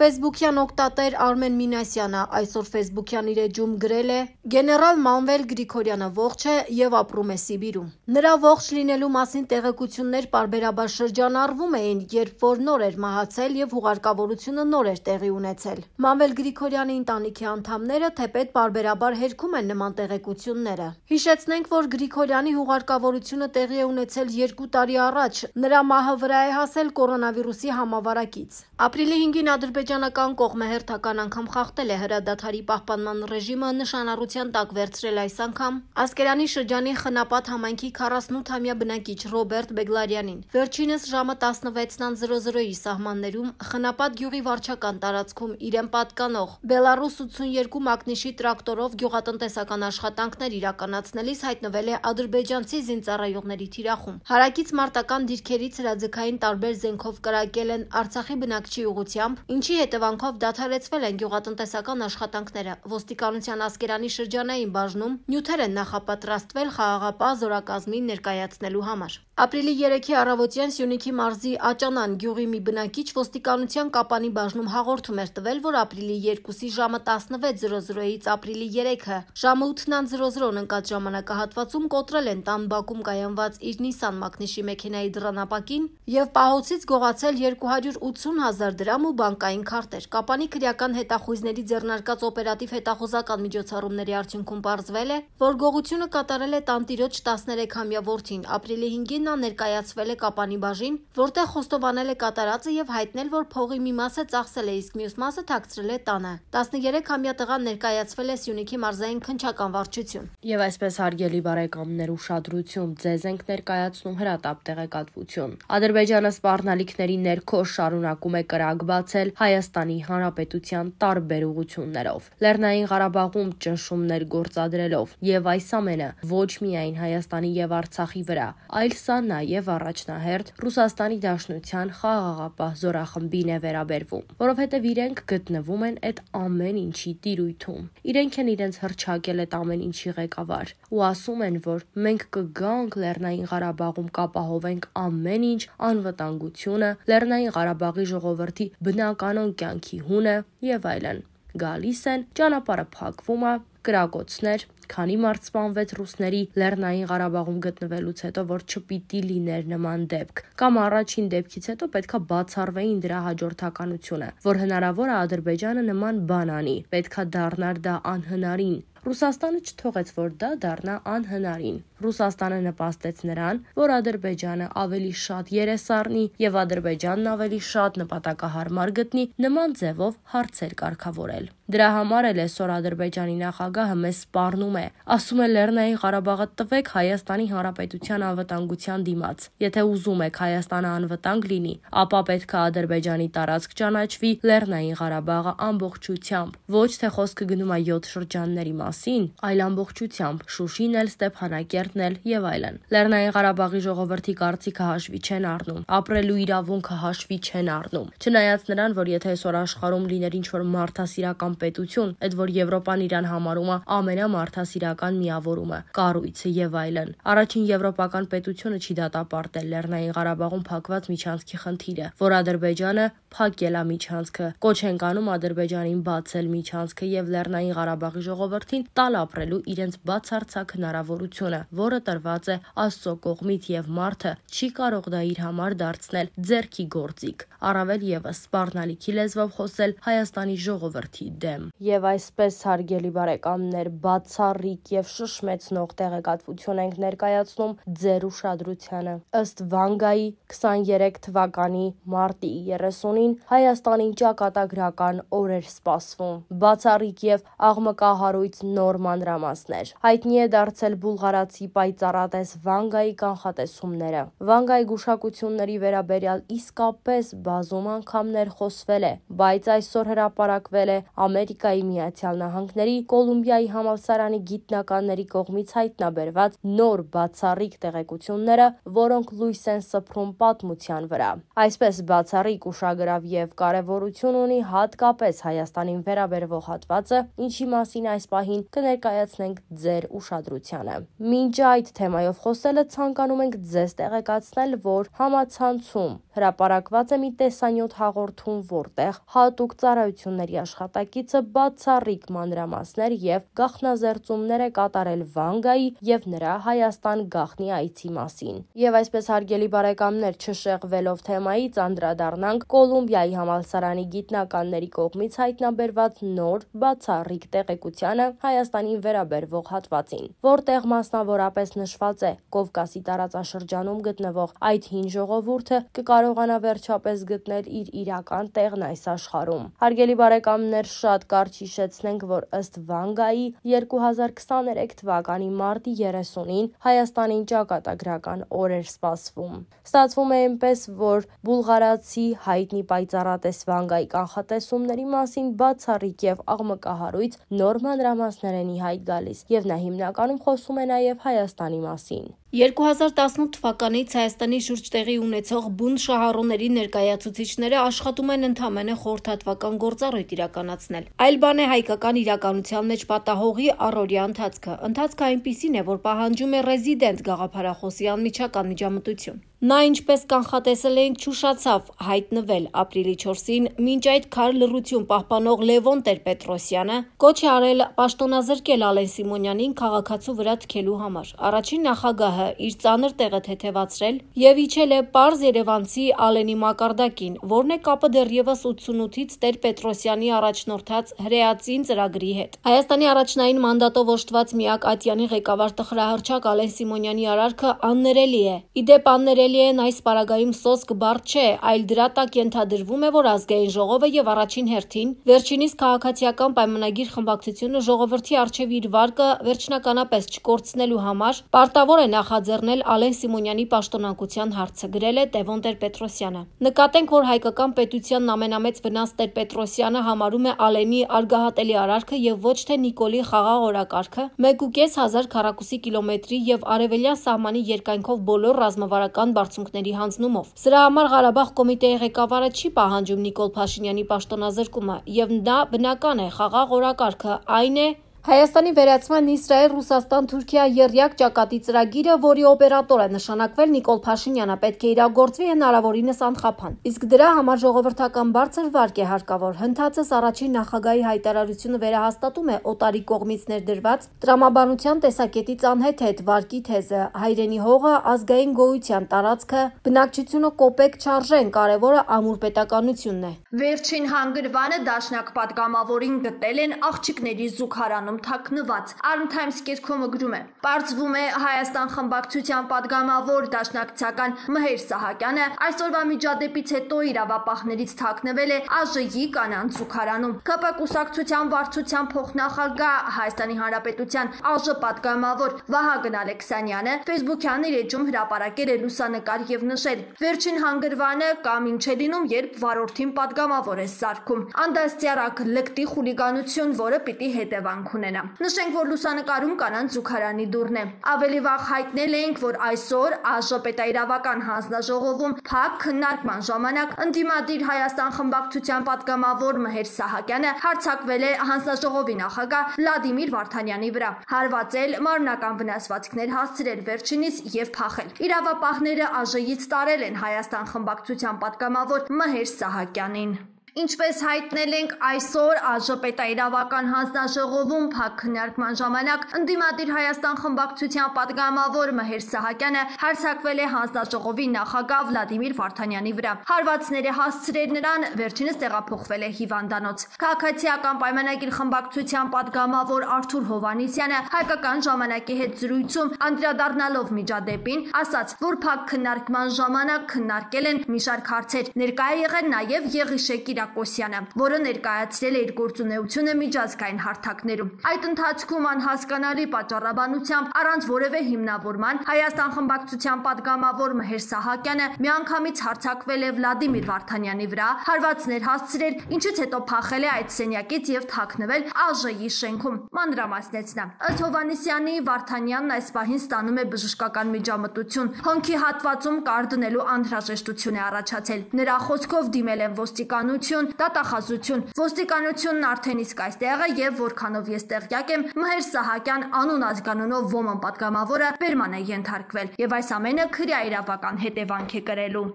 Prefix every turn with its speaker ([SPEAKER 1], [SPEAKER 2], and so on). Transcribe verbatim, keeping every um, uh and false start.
[SPEAKER 1] Ֆեյսբուքյան օգտատեր Արմեն Մինասյանը այսօր ֆեյսբուքյան իր էջում գրել է. «Գեներալ Մանվել Գրիգորյանը ողջ է և ապրում է Սիբիրում»։ Նրա ողջ լինելու մասին տեղեկություններ պարբերաբար շրջանառվում էին, երբ որ նոր էր մահացել և հուղարկավորությունը նոր էր տեղի ունեցել։ Մանվել Գրիգորյանի ընտանիքի անդամները թեպետ պարբերաբար հերքում են նման տեղեկությունները։ Հիշեցնենք, որ Գրիգորյանի հուղարկավորությունը տեղի է ունեցել երկու տարի առաջ, նրա մահը վրա է հասել կորոնավիրուսի համավարակից։ Ապրիլի հինգին ադրբեջանական կողմը հերթական անգամ խախտել է հրադադարի պահպանման ռեժիմը, նշանառության տակ վերցրել այս անգամ Ասկերանի շրջանի Խնապատ համայնքի քառասունութամյա բնակիչ Ռոբերտ Բեգլարյանին։ Վերջինս ժամը տասնվեցի սահմաններում Խնապատ գյուղի վարչական տարածքում իրեն պատկանող Բելառուս ութսունյերկու մակնիշի տրակտորով գյուղատնտեսական աշխատանքներ իրականացնելիս հայտնվել է ադրբեջանցի զինծառայողների թիրախում։ Հարակից մարտական դիրքերից հրաձգային տարբեր զենքով կրակել են Արցախի բնակչի ուղղությամբ, ինչի հետևանքով դադարեցվել են գյուղատնտեսական աշխատանքները։ Ոստիկանության Ասկերանի շրջանային բաժնում նյութեր են նախապատրաստվել խաղաղապահ զորակազմին ներկայացնելու համար։ Ապրիլի երեքի առավոտյան Սյունիքի մարզի Աճանան գյուղի մի բնակիչ ոստիկանության Կապանի բաժնում հաղորդում էր տվել, որ ապրիլի երկուսի ժամը տասնվեց ապրիլի երեքը ժամը ութ ընկած ժամանակահատվածում կոտրել են տան բակում կայանված իր Նիսան մակնիշի մեքենայի դռնապակին և պահոցից գողացել երկու հարյուր ութսուն հազար դրամ ու բանկային քարտեր։ Կապանի քրեական հետախույզների ձեռնարկած օպերատիվ հետախուզական միջոցառումների արդյունքում պարզվել է, որ գողությունը կատարել է տանտիրոջ տասներեքամյա որդին։ Ապրիլի հինգին նա ներկայացվել է Կապանի բաժին, որտեղ խոստովանել է կատարածը և հայտնել, որ փողի մի մասը ծախսել է, իսկ մյուս մասը թաքցրել է տանը։ տասներեքամյա տղան ներկայացվել է Սյունիքի մարզային քննչական վարչություն։
[SPEAKER 2] Եվ այսպես, հարգելի բարեկամներ, ուշադրություն, ձեզ ենք ներկայացնում հրատապ տեղեկատվություն։ Ադրբեջանը սպառնալիքների ներքո շարունակում է կրակ բացել Հայաստանի Հանրապետության տարբեր ուղղություններով, Լեռնային Ղարաբաղում ճնշումներ գործադրելով, եւ այս ամենը ոչ միայն Հայաստանի եւ Արցախի վրա, այլ սա նաեւ առաջնահերթ Ռուսաստանի Դաշնության խաղաղապահ զորախմբին է վերաբերվում, որովհետեւ իրենք գտնվում են այդ ամեն ինչի տիրույթում։ Իրենք են իրենց հռչակել այդ ամեն ինչի ղեկավար ու ասում են, որ մենք կգանք Լեռնային Ղարաբաղում կապահովենք ամեն ինչ, անվտանգությունը, Լեռնային Ղարաբաղի ժողովրդի բնականոն կյանքի հունը եւ այլն։ Գալիս են, ճանապարհը փակվում է, կրակոցներ, քանի մարդ սպանվեց ռուսների Լեռնային Ղարաբաղում գտնվելուց հետո, որ չպիտի լիներ նման դեպք, կամ առաջին դեպքից հետո պետքա բացառվեին դրա հաջորդականությունը, որ հնարավոր է Ադրբեջանը նման բան անի, պետքա դառնար դա անհնարին։ Ռուսաստանը չթողեց, որ դա դառնա անհնարին։ Ռուսաստանը նպաստեց նրան, որ Ադրբեջանը ավելի շատ երես առնի եւ Ադրբեջանն ավելի շատ նպատակահարմար գտնի նման ձևով հարցեր կարգավորել։ Դրա համար էլ այսօր Ադրբեջանի նախագահը մեզ սպառնում է, ասում է Լեռնային Ղարաբաղը տվեք Հայաստանի Հանրապետության անվտանգության դիմաց։ Եթե ուզում եք Հայաստանը անվտանգ լինի, ապա պետք է Ադրբեջանի տարածք ճանաչվի Լեռնային Ղարաբաղը ամբողջությամբ։ Ոչ թե խոսքը գնում է յոթ շրջանների մասին, այլ ամբողջությամբ, Շուշին էլ, Ստեփանակերտն էլ եւ այլն։ Լեռնային Ղարաբաղի ժողովրդի կարծիքը հաշվի չեն առնում, ապրելու իրավունքը հաշվի չեն առնում։ Չնայած նրան, որ եթե այսօր աշխարհում լիներ ինչ-որ մարդասիրական պետություն, այդ որ Եվրոպան իրան համարում է ամենամարդասիրական միավորումը, կառույցը եւ այլն։ Առաջին եվրոպական պետությունը չի դատապարտել Լեռնային Ղարաբաղում փակված միջանցքի խնդիրը, որ Ադրբեջանը փակել է միջանցքը։ Կոչ ենք անում Ադրբեջանին բացել միջանցքը եւ Լեռնային Ղարաբաղի ժողովրդին տալ ապրելու իրենց բացարձակ հնարավորությունը, որը տրված է Աստծո կողմից եւ մարդը չի կարող դա իր համար դարձնել ձեռքի գործիք, առավել եւս սպառնալիքի լեզվով խոսել Հայաստանի ժողովրդի դեմ։ Եվ այսպես, հարգելի բարեկամներ, բացառիկ եւ շշմեցնող տեղեկատվություն ենք ներկայացնում ձեր ուշադրությանը։ Ըստ Վանգայի քսաներեք թվականի մարտի երեսունին Հայաստանին ճակատագրական օր էր սպասվում։ Բացառիկ եւ աղմկահարույց նոր մանրամասներ։ Հայտնի է դարձել բուլղարացի պայծառատես Վանգայի կանխատեսումները։ Վանգայի գուշակությունների վերաբերյալ իսկապես բազում անգամներ խոսվել է, բայց այսօր հրապարակվել է Ամերիկայի Միացյալ Նահանգների Կոլումբիայի համալսարանի գիտնականների կողմից հայտնաբերված նոր բացառիկ տեղեկությունները, որոնք լույս են սփռում պատմության վրա։ Այսպես բացառիկ ուշագրավ եւ կարեւորություն ունի հատկապես Հայաստանին վերաբերվող հատվածը, ինչի մասին այս պահին կներկայացնենք ձեր ուշադրությանը։ Մինչ այդ թեմայով խոսելը ցանկանում ենք ձեզ տեղեկացնել, որ համացանցում հրապարակված է մի տեսանյութ հաղորդում, որտեղ հատուկ ծառայությունների աշխատակիցը բացառիկ մանրամասներ եւ գաղտնազերծումներ է կատարել Վանգայի եւ նրա Հայաստան գաղտնի այցի մասին։ Եվ այսպես, հարգելի բարեկամներ, չշեղվելով թեմայից, անդրադառնանք Կոլումբիայի համալսարանի գիտնականների կողմից հայտնաբերված նոր բացառիկ տեղեկությանը Հայաստանին վերաբերվող հատվածին, որտեղ մասնավորապես նշված է Կովկասի տարածաշրջանում գտնվող այդ հին ժողովուրդը կկարողանա վերջապես գտնել իր իրական տեղն այս աշխարհում։ Հարգելի բարեկամներ, շատ կարճ հիշեցնենք, որ ըստ Վանգայի երկու հազար քսաներեք թվականի մարտի երեսունին Հայաստանին ճակատագրական օր էր սպասվում։ Ստացվում է այնպես, որ բուլղարացի հայտնի պայծառատես Վանգայի կանխատեսումների մասին բացառիկ եւ աղմկահարույց նոր մանրամասներ են ի հայտ գալիս, եւ նա հիմնականում խոսում է նաեւ Հայաստանի մասին։
[SPEAKER 1] երկու հազար տասնութ թվականից Հայաստանի շուրջ տեղի ունեցող բուն շահառուների ներկայացուցիչները աշխատում են ընդամենը խորհրդատվական գործառույթ իրականացնել։ Այլ բան է հայկական իրականության մեջ պատահողի առօրյա ընթացքը։ Ընթացքը այնպիսին է, որ պահանջում է ռեզիդենտ գաղափարախոսի անմիջական միջամտություն։ Նա, ինչպես կանխատեսել էինք, չուշացավ հայտնվել ապրիլի չորսին, մինչ այդ քար լռություն պահպանող Լևոն Տեր-Պետրոսյանը կոչ է արել պաշտոնազրկել Ալեն Սիմոնյանին քաղաքացու վրա թքելու համար։ Առաջին նախագահը իր ծանր տեղը թեթևացրել եւ իջել է պարզ երևանցի Ալենի մակարդակին, որն է կապը դեռևս ութսունութից Տեր-Պետրոսյանի առաջնորդած հրեացին ծրագրի հետ։ Հայաստանի առաջնային մանդատով օժտված միակ ատյանի ղեկավար տխրահռչակ Ալեն Սիմոնյանի արարքը աններելի է։ Իդեպ աններելի այս պարագայում սոսկ բառ չէ, այլ դրա տակ ենթադրվում է, որ ազգային ժողովը եւ առաջին հերթին վերջինիս քաղաքացիական պայմանագիր խմբակցությունը ժողովրդի արչեւ իր վարկը վերջնականապես չկորցնելու համար պարտավոր է նախաձեռնել Ալեն Սիմոնյանի պաշտոնակության հարցը, գրել է Տևոն Տեր-Պետրոսյանը։ Նկատենք, որ հայկական պետությանն ամենամեծ վնաս Տեր-Պետրոսյանը համարում է Ալենի արգահատելի արարքը եւ ոչ թե Նիկոլի խաղաղ օրակարգը, մեկ ու կես հազար քառակուսի կիլոմետրի եւ արևելյան սահմանի երկայնքով բոլոր ռազմավարական բարձունքների հանձնումով։ Սրա համար Ղարաբաղ կոմիտեի ղեկավարը չի պահանջում Նիկոլ Փաշինյանի պաշտոնազրկումը, եւ դա բնական է, խաղաղ օրակարգը այն է Հայաստանի վերացման Իսրայել-Ռուսաստան-Թուրքիա եռյակ ճակատի ծրագիրը, որի օպերատոր է նշանակվել Նիկոլ Փաշինյանը, պետք է իրագործվի հնարավորինս անխափան։ Իսկ դրա համար ժողովրդական բարձր վարկ է հարկավոր։ Հնդածս առաջին նախագահի հայտարարությունը վերահաստատում է Օտարի կողմից ներդրված տրամաբանության տեսակետից անհեթեթ վարկի թեզը՝ հայրենի հողը, ազգային գոյության տարածքը, բնակչությունը կոպեկ չարժեն, կարևորը ամուր պետականությունն է։
[SPEAKER 3] Վերջին հանգրվանը դաշնակ պատգամավորին գտել են աղջիկների զուգարանում թաքնված։ Arm Times կերկումը գրում է. Պարզվում է Հայաստան խմբակցության պատգամավոր դաշնակցական Մհեր Սահակյանը այսօրվա միջադեպից հետո իրավապահներից թաքնվել է ԱԺ-ի կանանց զուգարանում։ ԿՊ կուսակցության վարչության փոխնախագահ Հայաստանի Հանրապետության ԱԺ պատգամավոր Վահագն Ալեքսանյանը Facebook-յան իր էջում հրապարակել է լուսանկար եւ նշել. Վերջին հանգրվանը կամ ինչ է լինում, երբ վարորդին պատգամավոր է սարքում։ Անդաստիարակ լկտի խուլիգանություն, որը պիտի հետևանք ունենա։ Նշենք, որ լուսանկարում կանանց զուգարանի դուռն է։ Ավելի վաղ հայտնել էինք, որ այսօր ԱԺ պետաիրավական հանձնաժողովում փակ քննարկման ժամանակ ընդդիմադիր Հայաստան խմբակցության պատգամավոր Մհեր Սահակյանը հարձակվել է հանձնաժողովի նախագահ Վլադիմիր Վարդանյանի վրա, հարվածել, մարմնական վնասվածքներ հասցրել վերջինիս եւ փախել։ Իրավապահները ԱԺ-ից տարել են Հայաստան խմբակցության պատգամավոր Մհեր Սահակյանին։ Ինչպես հայտնել ենք այսօր ԱԺ պետաիրավական հանձնաժողովում փակ քննարկման ժամանակ ընդդիմադիր Հայաստան խմբակցության պատգամավոր Մհեր Սահակյանը հարձակվել է հանձնաժողովի նախագահ Վլադիմիր Վարդանյանի վրա։ Հարվածներ է հասցրել նրան, վերջինս տեղափոխվել է հիվանդանոց։ Քաղաքացիական պայմանագիր խմբակցության պատգամավոր Արթուր Հովանեսյանը հայկական ժամանակի հետ զրույցում անդրադառնալով միջադեպին ասաց, որ փակ քննարկման ժամանակ քննարկել են մի շարք հարցեր, ներկա է եղել նաև Եղիշե Կիրակոսյանը, որը ներկայացրել է իր գործունեությունը միջազգային հարթակներում։ Այդ ընթացքում անհասկանալի պատճառաբանությամբ առանց որևէ հիմնավորման Հայաստան խմբակցության падգամավոր Մհեր Սահակյանը միանգամից հարձակվել է Վլադիմիր Վարդանյանի վրա, հարվածներ հասցրել, ինչից հետո փախել է այդ սենյակից եւ թաքնվել ԱԺ-ի շենքում։ Մանրամասնեց նա։ Ըստ Հովհաննիսյանի, Վարդանյանն այս պահին ստանում է բժշկական միջամտություն։ Հոնքի հատվածում կար դնելու անհրաժեշտություն է առաջացել։ Նրա խոսքով դիմել են ոստիկանություն, դատախազություն։ Ոստիկանությունն արդեն իսկ այստեղ է եւ որքանով ես տեղյակ եմ, Մհեր Սահակյան անուն ազգանունով ոմն падգամավորը բերման է ենթարկվել եւ այս ամենը քրեա իրավական հետևանք է կրելու։